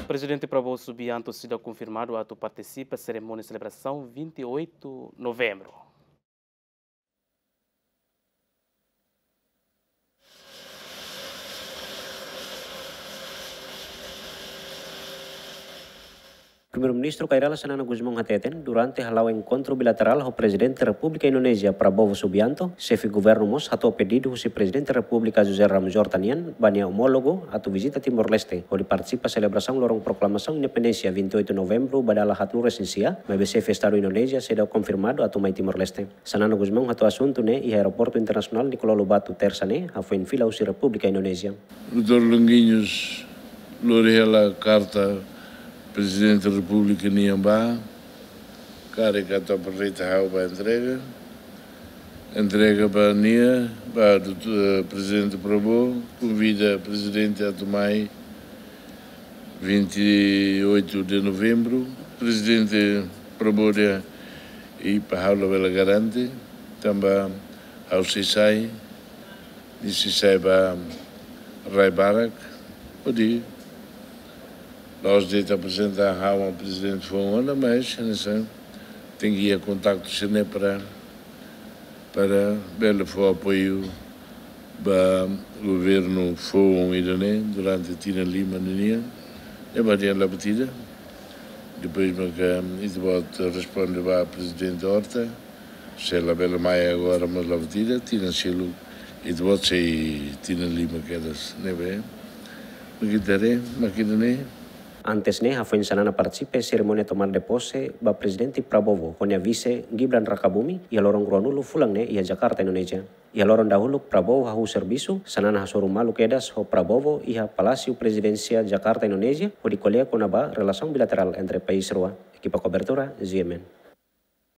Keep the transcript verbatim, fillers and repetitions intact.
Prezidente Prabowo Subianto seidauk konfirmadu atu partisipa serimónia selebrasaun vinte e oito Novembru. Primeiru-Ministru Kay Rala Xanana Gusmão hateten, durante hala'o enkontru bilaterál ho Prezidente Repúblika Indonézia Prabowo Subianto, xefe governu mós hato'o pedidu husi Prezidente Repúblika José Ramos Horta nian ba nia omólogu atu vizita Timor-Leste, hodi partisipa selebrasaun loron proklamasaun independénsia vinte e oito Novembru ba dala haat-nulu-resin-sia, maibé xefe Estadu Indonézia seidauk konfirmadu atu mai Timor-Leste. Xanana Gusmão hato'o asuntu ne'e iha Aeroportu Internasionál Nicolau Lobato, Tersa ne'e, hafoin fila husi Repúblika Indonézia. Doutór Longuinhos lori hela karta Prezidente Repúblika nian ba, karik atu aproveita ha'u ba entrega. Entrega ba nia, ba doutór, eh, Prezidente Prabowo, konvida Prezidente atu mai vinte e oito de Novembro. Prezidente Prabowo dehan, i para ha'u labele garante, tanba ha'u sei sai, nia sei sai ba rai barak, hodi la'ós de'it aprezenta ha'u ba prezidente foun ona, mas hanesan tenke iha kontaktu sira-ne'e para, para bele fó apoiu ba governu foun ida-ne'e durante tinan lima ninian. Ne'ebé dehan la buat ida. Depois maka ita-boot responde ba Prezidente Horta. Se labele mai agora, mas la buat ida, tinan seluk ita-boot sei tinan lima kedas, ne'ebé mak ita haree, mak ida-ne'e. Antes ne'e, hafoin Xanana partisipa serimónia tomada de pose ba Prezidente Prabowo ho nia vise Gibran Rakabuming, iha loron ruanulu fulan ne'e iha Jakarta, Indonézia. Iha loron dahuluk Prabowo hahú servisu, Xanana hasoru malu kedas ho Prabowo iha Palásiu Prezidénsia Jakarta, Indonézia, hodi ko'alia kona-ba relasaun bilaterál entre país rua. Ekipa kobertura, G M N.